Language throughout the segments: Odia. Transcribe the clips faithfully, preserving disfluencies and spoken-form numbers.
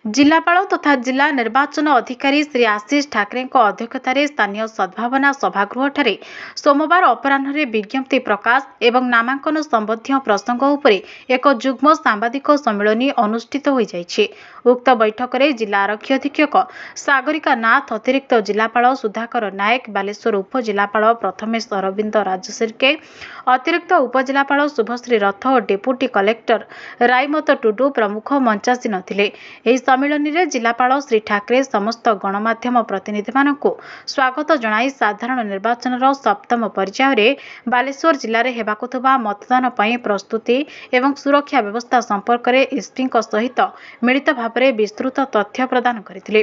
ଜିଲ୍ଲାପାଳ ତଥା ଜିଲ୍ଲା ନିର୍ବାଚନ ଅଧିକାରୀ ଶ୍ରୀ ଆଶିଷ ଠାକରେଙ୍କ ଅଧ୍ୟକ୍ଷତାରେ ସ୍ଥାନୀୟ ସଦ୍ଭାବନା ସଭାଗୃହଠାରେ ସୋମବାର ଅପରାହ୍ନରେ ବିଜ୍ଞପ୍ତି ପ୍ରକାଶ ଏବଂ ନାମାଙ୍କନ ସମ୍ବନ୍ଧୀୟ ପ୍ରସଙ୍ଗ ଉପରେ ଏକ ଯୁଗ୍ମ ସାମ୍ବାଦିକ ସମ୍ମିଳନୀ ଅନୁଷ୍ଠିତ ହୋଇଯାଇଛି। ଉକ୍ତ ବୈଠକରେ ଜିଲ୍ଲା ଆରକ୍ଷୀ ଅଧୀକ୍ଷକ ସାଗରିକା ନାଥ, ଅତିରିକ୍ତ ଜିଲ୍ଲାପାଳ ସୁଧାକର ନାୟକ, ବାଲେଶ୍ୱର ଉପଜିଲ୍ଲାପାଳ ପ୍ରଥମେଶ ଅରବିନ୍ଦ ରାଜଶିର୍କେ, ଅତିରିକ୍ତ ଉପଜିଲ୍ଲାପାଳ ଶୁଭଶ୍ରୀ ରଥ ଓ ଡେପୁଟି କଲେକ୍ଟର ରାଇମତ ଟୁଡୁ ପ୍ରମୁଖ ମଞ୍ଚାସୀନ ଥିଲେ। ଏହି ସମ୍ମିଳନୀରେ ଜିଲ୍ଲାପାଳ ଶ୍ରୀ ଠାକରେ ସମସ୍ତ ଗଣମାଧ୍ୟମ ପ୍ରତିନିଧିମାନଙ୍କୁ ସ୍ୱାଗତ ଜଣାଇ ସାଧାରଣ ନିର୍ବାଚନର ସପ୍ତମ ପର୍ଯ୍ୟାୟରେ ବାଲେଶ୍ୱର ଜିଲ୍ଲାରେ ହେବାକୁ ଥିବା ମତଦାନ ପାଇଁ ପ୍ରସ୍ତୁତି ଏବଂ ସୁରକ୍ଷା ବ୍ୟବସ୍ଥା ସମ୍ପର୍କରେ ଏସ୍ପିଙ୍କ ସହିତ ମିଳିତ ଭାବରେ ବିସ୍ତୃତ ତଥ୍ୟ ପ୍ରଦାନ କରିଥିଲେ।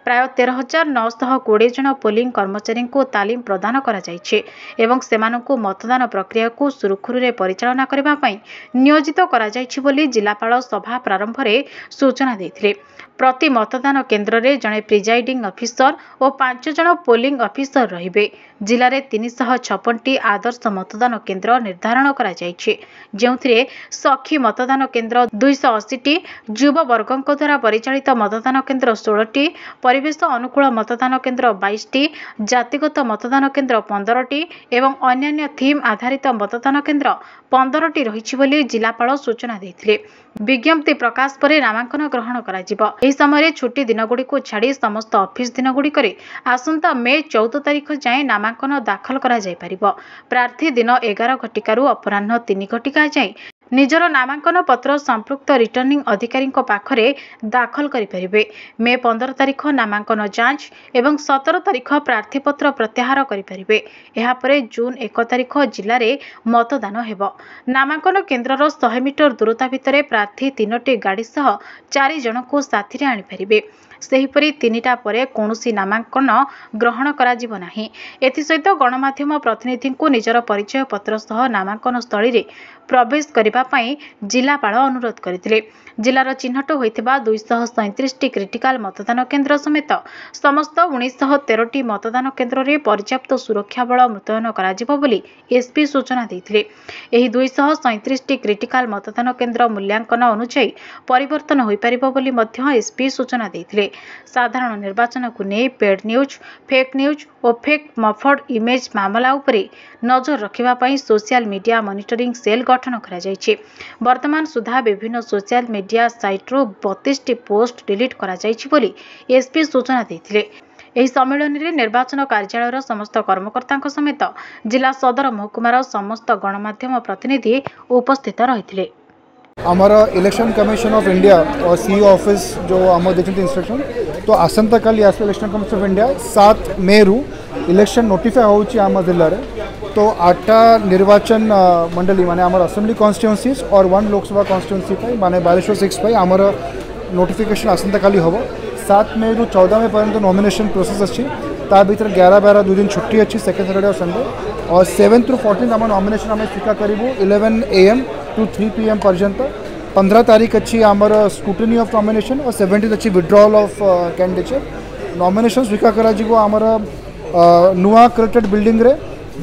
ପ୍ରାୟ ତେର ହଜାର ନଅଶହ କୋଡ଼ିଏ ଜଣ ପୋଲିଂ କର୍ମଚାରୀଙ୍କୁ ତାଲିମ ପ୍ରଦାନ କରାଯାଇଛି ଏବଂ ସେମାନଙ୍କୁ ମତଦାନ ପ୍ରକ୍ରିୟାକୁ ସୁରୁଖୁରୁରେ ପରିଚାଳନା କରିବା ପାଇଁ ନିୟୋଜିତ କରାଯାଇଛି ବୋଲି ଜିଲ୍ଲାପାଳ ସଭା ପ୍ରାରମ୍ଭରେ ସୂଚନା ଦେଇଥିଲେ। ପ୍ରତି ମତଦାନ କେନ୍ଦ୍ରରେ ଜଣେ ପ୍ରିଜାଇଡିଂ ଅଫିସର ଓ ପାଞ୍ଚ ଜଣ ପୋଲିଂ ଅଫିସର ରହିବେ। ଜିଲ୍ଲାରେ ତିନିଶହ ଛପନଟି ଆଦର୍ଶ ମତଦାନ କେନ୍ଦ୍ର ନିର୍ଦ୍ଧାରଣ କରାଯାଇଛି, ଯେଉଁଥିରେ ସଖୀ ମତଦାନ କେନ୍ଦ୍ର ଦୁଇଶହ ଅଶୀଟି, ଯୁବବର୍ଗଙ୍କ ଦ୍ୱାରା ପରିଚାଳିତ ମତଦାନ କେନ୍ଦ୍ର ଷୋହଳଟି, ପରିବେଶ ଅନୁକୂଳ ମତଦାନ କେନ୍ଦ୍ର ବାଇଶଟି, ଜାତିଗତ ମତଦାନ କେନ୍ଦ୍ର ପନ୍ଦରଟି ଏବଂ ଅନ୍ୟାନ୍ୟ ଥିମ୍ ଆଧାରିତ ମତଦାନ କେନ୍ଦ୍ର ପନ୍ଦରଟି ରହିଛି ବୋଲି ଜିଲ୍ଲାପାଳ ସୂଚନା ଦେଇଥିଲେ। ବିଜ୍ଞପ୍ତି ପ୍ରକାଶ ପରେ ନାମାଙ୍କନ ଗ୍ରହଣ କରାଯିବ। ଏହି ସମୟରେ ଛୁଟି ଦିନଗୁଡ଼ିକୁ ଛାଡ଼ି ସମସ୍ତ ଅଫିସ ଦିନଗୁଡ଼ିକରେ ଆସନ୍ତା ମେ ଚଉଦ ତାରିଖ ଯାଏଁ ନାମାଙ୍କନ ଦାଖଲ କରାଯାଇପାରିବ। ପ୍ରାର୍ଥୀ ଦିନ ଏଗାର ଘଟିକାରୁ ଅପରାହ୍ନ ତିନି ଘଟିକା ଯାଏଁ ନିଜର ନାମାଙ୍କନ ପତ୍ର ସମ୍ପୃକ୍ତ ରିଟର୍ଣ୍ଣିଂ ଅଧିକାରୀଙ୍କ ପାଖରେ ଦାଖଲ କରିପାରିବେ। ମେ ପନ୍ଦର ତାରିଖ ନାମାଙ୍କନ ଯାଞ୍ଚ ଏବଂ ସତର ତାରିଖ ପ୍ରାର୍ଥୀପତ୍ର ପ୍ରତ୍ୟାହାର କରିପାରିବେ। ଏହାପରେ ଜୁନ୍ ଏକ ତାରିଖ ଜିଲ୍ଲାରେ ମତଦାନ ହେବ। ନାମାଙ୍କନ କେନ୍ଦ୍ରର ଶହେ ମିଟର ଦୂରତା ଭିତରେ ପ୍ରାର୍ଥୀ ତିନୋଟି ଗାଡ଼ି ସହ ଚାରି ଜଣଙ୍କୁ ସାଥିରେ ଆଣିପାରିବେ। ସେହିପରି ତିନିଟା ପରେ କୌଣସି ନାମାଙ୍କନ ଗ୍ରହଣ କରାଯିବ ନାହିଁ। ଏଥିସହିତ ଗଣମାଧ୍ୟମ ପ୍ରତିନିଧିଙ୍କୁ ନିଜର ପରିଚୟ ପତ୍ର ସହ ନାମାଙ୍କନ ସ୍ଥଳୀରେ ପ୍ରବେଶ କରିବା ପାଇଁ ଜିଲ୍ଲାପାଳ ଅନୁରୋଧ କରିଥିଲେ। ଜିଲ୍ଲାର ଚିହ୍ନଟ ହୋଇଥିବା ଦୁଇଶହ ସଇଁତିରିଶଟି କ୍ରିଟିକାଲ ମତଦାନ କେନ୍ଦ୍ର ସମେତ ସମସ୍ତ ଉଣେଇଶହ ତେରଟି ମତଦାନ କେନ୍ଦ୍ରରେ ପର୍ଯ୍ୟାପ୍ତ ସୁରକ୍ଷା ବଳ ମୁତୟନ କରାଯିବ ବୋଲି ଏସ୍ପି ସୂଚନା ଦେଇଥିଲେ। ଏହି ଦୁଇଶହ ସଇଁତିରିଶଟି କ୍ରିଟିକାଲ ମତଦାନ କେନ୍ଦ୍ର ମୂଲ୍ୟାଙ୍କନ ଅନୁଯାୟୀ ପରିବର୍ତ୍ତନ ହୋଇପାରିବ ବୋଲି ମଧ୍ୟ ଏସ୍ପି ସୂଚନା ଦେଇଥିଲେ। ସାଧାରଣ ନିର୍ବାଚନକୁ ନେଇ ପେଡ୍ ନ୍ୟୁଜ୍, ଫେକ୍ ନ୍ୟୁଜ୍ ଓ ଫେକ୍ ମର୍ଫଡ୍ ଇମେଜ୍ ମାମଲା ଉପରେ ନଜର ରଖିବା ପାଇଁ ସୋସିଆଲ ମିଡିଆ ମନିଟରିଂ ସେଲ୍ ଗଠନ କରାଯାଇଛି। ବର୍ତ୍ତମାନ ସୁଦ୍ଧା ବିଭିନ୍ନ ସୋସିଆଲ ମିଡିଆ ସାଇଟ୍ରୁ ବତିଶଟି ପୋଷ୍ଟ ଡିଲିଟ୍ କରାଯାଇଛି ବୋଲି ଏସ୍ପି ସୂଚନା ଦେଇଥିଲେ। ଏହି ସମ୍ମିଳନୀରେ ନିର୍ବାଚନ କାର୍ଯ୍ୟାଳୟର ସମସ୍ତ କର୍ମକର୍ତ୍ତାଙ୍କ ସମେତ ଜିଲ୍ଲା ସଦର ମହକୁମାର ସମସ୍ତ ଗଣମାଧ୍ୟମ ପ୍ରତିନିଧି ଉପସ୍ଥିତ ରହିଥିଲେ। ଆମର ଇଲେକ୍ସନ୍ କମିଶନ ଅଫ୍ ଇଣ୍ଡିଆ और सीईओ ऑफिस जो ଆମ ଦେଇଛନ୍ତି ଇନଷ୍ଟ୍ରକ୍ସନ୍, ତ ଆସନ୍ତାକାଲି ଆସିବ ଇଲେକ୍ସନ୍ କମିଶନ ଅଫ୍ ଇଣ୍ଡିଆ। ସାତ ମେରୁ ଇଲେକ୍ସନ୍ ନୋଟିଫାଏ ହେଉଛି ଆମ ଜିଲ୍ଲାରେ। ତ ଆଠଟା ନିର୍ବାଚନ ମଣ୍ଡଳୀ, ମାନେ ଆମର ଆସେମ୍ବଲି କନଷ୍ଟିଟ୍ୟୁଏନ୍ସିଜ୍ और ୱାନ୍ ଲୋକସଭା କନଷ୍ଟିଟ୍ୟୁଏନ୍ସି ପାଇଁ, ମାନେ ବାଲେଶ୍ୱର ସିକ୍ସ ପାଇଁ ଆମର ନୋଟିଫିକେସନ୍ ଆସନ୍ତାକାଲି ହେବ। ସାତ ମେରୁ ଚଉଦ ମେ ପର୍ଯ୍ୟନ୍ତ ନମିନେସନ୍ ପ୍ରୋସେସ୍ ଅଛି। ତା ଭିତରେ ଗ୍ୟାର ବାର ଦୁଇ ଦିନ ଛୁଟି ଅଛି, ସେକେଣ୍ଡ ସଟରଡେ ଆଉ ସଣ୍ଡେ। और ସେଭେନ୍ଥ ରୁ ଫୋର୍ଟିନ୍ଥ ଆମ ନମିନେସନ୍ ଆମେ ସ୍ୱୀକାର କରିବୁ eleven A M to three P M ପର୍ଯ୍ୟନ୍ତ। ପନ୍ଦର ତାରିଖ ଅଛି ଆମର ସ୍କ୍ରୁଟିନି ଅଫ୍ ନମିନେସନ୍ और ସେଭେଣ୍ଟିନ୍ ଅଛି ୱିଡ୍ରଲ୍ ଅଫ୍ କ୍ୟାଣ୍ଡିଡେଚର୍। ନମିନେସନ୍ ସ୍ୱୀକାର କରାଯିବ ଆମର ନୂଆ କଲେକ୍ଟରେଟ୍ ବିଲ୍ଡିଂରେ,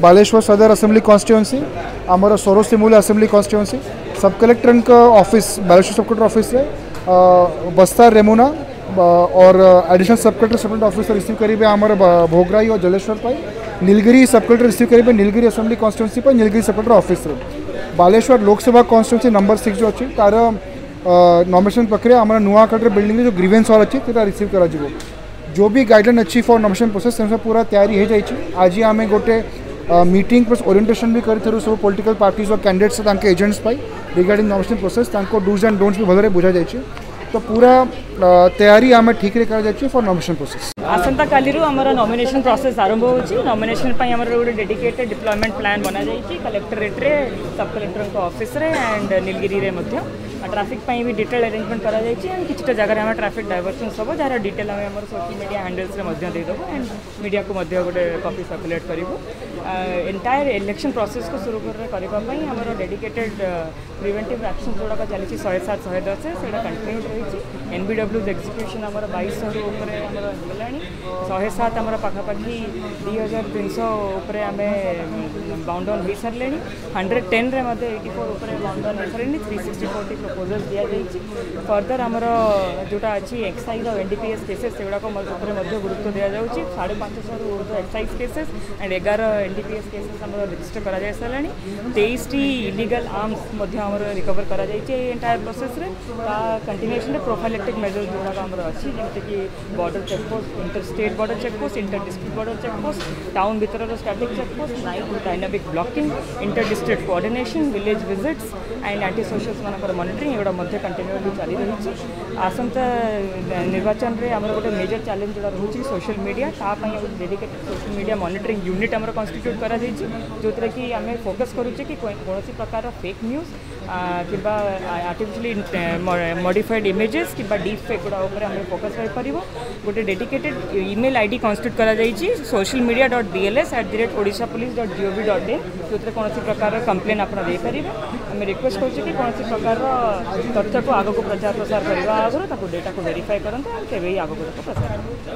ବାଲେଶ୍ୱର ସଦର ଆସେମ୍ବଲି କନଷ୍ଟିଟ୍ୟୁଏନ୍ସି, ଆମର ସୋର ସିମୁଲି ଆସେମ୍ବଲି କନଷ୍ଟିଟ୍ୟୁଏନ୍ସି, ସବ୍ କଲେକ୍ଟରଙ୍କ ଅଫିସ୍, ବାଲେଶ୍ୱର ସବ୍ କଲେକ୍ଟର ଅଫିସରେ, ବସ୍ତା ରେମୁନା और additional sub collector sub collector officer receive କରିବେ ଆମର ଭୋଗରାଇ और ଜଲେଶ୍ୱର ପାଇଁ। ନୀଳଗିରି ସବ୍ କଲେକ୍ଟର ରିସିଭ୍ କରିବେ ନୀଳଗିରି ଆସେମ୍ବଲି କନଷ୍ଟିଟ୍ୟୁଏନ୍ସି ପାଇଁ ନୀଳଗିରି ସବ୍ କଲେକ୍ଟର ଅଫିସରେ। ବାଲେଶ୍ୱର ଲୋକସଭା କନଷ୍ଟିଟ୍ୟୁଏନ୍ସି ନମ୍ବର ସିକ୍ସ ଯେଉଁ ଅଛି, ତାର ନମିନେସନ୍ ପ୍ରକ୍ରିୟା ଆମର ନୂଆ କଲେକ୍ଟର ବିଲ୍ଡିଂରେ ଯେଉଁ ଗ୍ରିଭେନ୍ସ ହଲ୍ ଅଛି, ସେଟା ରିସିଭ୍ କରାଯିବ। ଯେଉଁ ବି ଗାଇଡ଼ଲାଇନ୍ ଅଛି ଫର୍ ନମିନେସନ୍ ପ୍ରୋସେସ୍, ସେ ସବୁ ପୁରା ତିଆରି ହେଇଯାଇଛି। ଆଜି ଆମେ ଗୋଟେ ମିଟିଂ ପ୍ଲସ୍ ଓରିଏଣ୍ଟେସନ୍ ବି କରିଥିଲୁ ସବୁ ପଲିଟିକାଲ୍ ପାର୍ଟିଜ୍ ଓ କ୍ୟାଣ୍ଡିଡେଟ୍ସ, ତାଙ୍କ ଏଜେଣ୍ଟସ୍ ପାଇଁ ରିଗାର୍ଡ଼ିଂ ନମିନେସନ୍ ପ୍ରୋସେସ୍। ତାଙ୍କ ଡୁଜ୍ ଆଣ୍ଡ ଡୋଣ୍ଟସ୍ ବି ଭଲରେ ବୁଝାଯାଇଛି। ତ ପୁରା ତୟାରୀ ଆମେ ଠିକ୍ରେ କରାଯାଇଛି ଫର୍ ନମିନେସନ୍ ପ୍ରୋସେସ୍। ଆସନ୍ତାକାଲିରୁ ଆମର ନମିନେସନ୍ ପ୍ରୋସେସ୍ ଆରମ୍ଭ ହେଉଛି। ନମିନେସନ୍ ପାଇଁ ଆମର ଗୋଟେ ଡେଡିକେଟେଡ୍ ଡିପ୍ଲୟମେଣ୍ଟ ପ୍ଲାନ୍ ବନାଯାଇଛି କଲେକ୍ଟରେଟ୍ରେ, ସବ୍ କଲେକ୍ଟରଙ୍କ ଅଫିସରେ ଆଣ୍ଡ ନୀଲଗିରିରେ ମଧ୍ୟ। ଟ୍ରାଫିକ୍ ପାଇଁ ବି ଡିଟେଲ୍ ଆରେଞ୍ଜମେଣ୍ଟ କରାଯାଇଛି ଆଣ୍ଡ କିଛିଟା ଜାଗାରେ ଆମର ଟ୍ରାଫିକ୍ ଡାଇଭର୍ସନ୍ସ ହେବ, ଯାହାର ଡିଟେଲ୍ ଆମେ ଆମର ସୋସିଆଲ ମିଡ଼ିଆ ହ୍ୟାଣ୍ଡେଲ୍ସରେ ମଧ୍ୟ ଦେଇଦେବୁ ଆଣ୍ଡ ମିଡ଼ିଆକୁ ମଧ୍ୟ ଗୋଟେ କପି ସର୍କୁଲେଟ୍ କରିବୁ। ଏଣ୍ଟାୟାର ଇଲେକ୍ସନ୍ ପ୍ରୋସେସ୍କୁ ସୁରୁଖୁରୁରେ କରିବା ପାଇଁ ଆମର ଡେଡିକେଟେଡ୍ ପ୍ରିଭେଣ୍ଟିଭ୍ ଆକ୍ସନ୍ ଯେଉଁଗୁଡ଼ାକ ଚାଲିଛି, ଶହେ ସାତ, ଶହେ ଦଶ, ସେଇଟା କଣ୍ଟିନ୍ୟୁଡ୍ ରହିଛି। ଏନ୍ ବି ଡବ୍ଲ୍ୟୁଜ୍ ଏକ୍ଜିକ୍ୟୁସନ୍ ଆମର ବାଇଶଶହରୁ ଉପରେ ଆମର ହେଇଗଲାଣି ଶହେ ସାତ ଆମର ପାଖାପାଖି ଦୁଇ ହଜାର ତିନିଶହ ଉପରେ ଆମେ ବାଉଣ୍ଡ ଅନ୍ ହୋଇସାରିଲେଣି ହଣ୍ଡ୍ରେଡ଼ ଟେନ୍ରେ ମଧ୍ୟ ଏଇଟି ଫୋର୍ ଉପରେ ବାଉଣ୍ଡ ଅନ୍ ହୋଇସାରିଲେଣି ଥ୍ରୀ ସିକ୍ସଟି ଫୋର୍ଟି ପ୍ରପୋଜାଲ୍ସ ଦିଆଯାଇଛି ଫର୍ଦର ଆମର ଯେଉଁଟା ଅଛି ଏକ୍ସାଇଜ୍ ଆଉ N D P S cases ସେଗୁଡ଼ାକ ଉପରେ ମଧ୍ୟ ଗୁରୁତ୍ୱ ଦିଆଯାଉଛି ସାଢ଼େ ପାଞ୍ଚଶହରୁ ଉର୍ଦ୍ଧ୍ୱ ଏକ୍ସାଇଜ୍ କେସେସ୍ ଆଣ୍ଡ ଏଗାର N D P S cases ଆମର ରେଜିଷ୍ଟର କରାଯାଇ ସାରିଲାଣି ତେଇଶଟି ଇଲିଗାଲ୍ ଆର୍ମସ୍ ମଧ୍ୟ ଆମର ରିକଭର କରାଯାଇଛି ଏଇ ଏଣ୍ଟାୟାର ପ୍ରୋସେସ୍ରେ ତା କଣ୍ଟିନ୍ୟୁଏସନ୍ରେ ପ୍ରୋଫାଇଲେକ୍ଟିକ୍ ମେଜର୍ସ ଯେଉଁଗୁଡ଼ାକ ଆମର ଅଛି ଯେମିତିକି border checkpost inter state border checkpost inter district border checkpost town ଭିତରର static checkpost night dynamic blocking inter district coordination village visits and anti socials ମାନଙ୍କର ମନିଟରିଂ ଏଗୁଡ଼ା ମଧ୍ୟ କଣ୍ଟିନ୍ୟୁଅଲି ଚାଲି ରହିଛି ଆସନ୍ତା ନିର୍ବାଚନରେ ଆମର ଗୋଟେ ମେଜର ଚ୍ୟାଲେଞ୍ଜ ଯେଉଁଟା ରହୁଛି ସୋସିଆଲ ମିଡ଼ିଆ ତା ପାଇଁ ଗୋଟେ dedicated social media monitoring unit ଆମର କନଷ୍ଟିଟ୍ୟୁଟ୍ କରାଯାଇଛି ଯେଉଁଥିରେ କି ଆମେ ଫୋକସ୍ କରୁଛେ କି କୌଣସି ପ୍ରକାର ଫେକ୍ ନ୍ୟୁଜ୍ କିମ୍ବା ଆର୍ଟିଫିସିଆଲି ମଡ଼ିଫାଏଡ୍ ଇମେଜେସ୍ କିମ୍ବା ଡିପ୍ ଫେକ୍ ଗୁଡ଼ା ଉପରେ ଆମେ ଫୋକସ୍ ରହିପାରିବ ଗୋଟେ dedicated email I D constitute କରାଯାଇଛି social media dot B L S at the rate Odisha police dot gov dot in ଯେଉଁଥିରେ କୌଣସି ପ୍ରକାର କମ୍ପ୍ଲେନ୍ ଆପଣ ଦେଇପାରିବେ ଆମେ ରିକ୍ୱେଷ୍ଟ କରୁଛୁ କି କୌଣସି ପ୍ରକାରର ତଥ୍ୟକୁ ଆଗକୁ ପ୍ରଚାର ପ୍ରସାର କରିବା ଆଗରୁ ତାକୁ ଡେଟାକୁ ଭେରିଫାଏ କରନ୍ତୁ ଆଉ ତେବେ ହିଁ ଆଗକୁ ତାକୁ ପ୍ରସାର କରନ୍ତୁ